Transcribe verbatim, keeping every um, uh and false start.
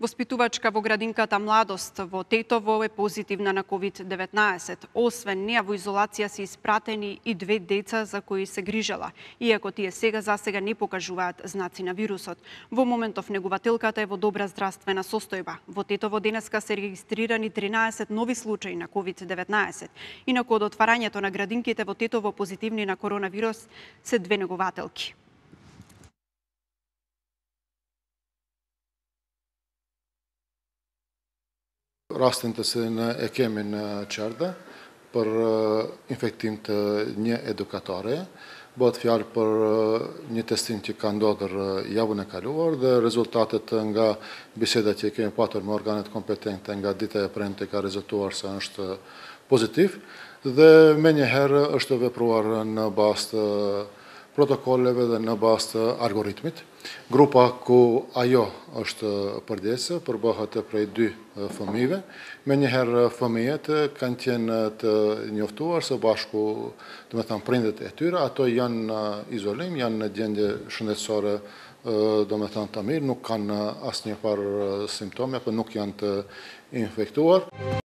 Воспитувачка во градинката Младост во Тетово е позитивна на ковид деветнаесет. Освен неа во изолација се испратени и две деца за кои се грижела, иако тие сега за сега не покажуваат знаци на вирусот. Во моментов негователката е во добра здравствена состојба. Во Тетово денеска се регистрирани тринаесет нови случаи на ковид деветнаесет. Инаку од отварањето на градинките во Тетово позитивни на коронавирус се две негователки. Rastin se ne e kemi në Qerdë për infektim të një edukatore. Bëhet fjalë për një testim që ka ndodhur javën e kaluar dhe rezultatet nga bisedat që kemi patur me organet kompetente nga dita e premte ka rezultuar se është pozitiv dhe menjëherë është vepruar në bazë të protokolleve dhe në bazë të algoritmit. Grupa ku ajo është përdesë përbëhet prej dy fëmijëve. Menjëherë fëmijët kanë qenë të njoftuar së bashku, do të thënë prindët e tyre, ato janë në izolim, janë në gjendje shëndetësore, do të thënë të mirë, nuk kanë asnjë farë simptome apo nuk janë të infektuar.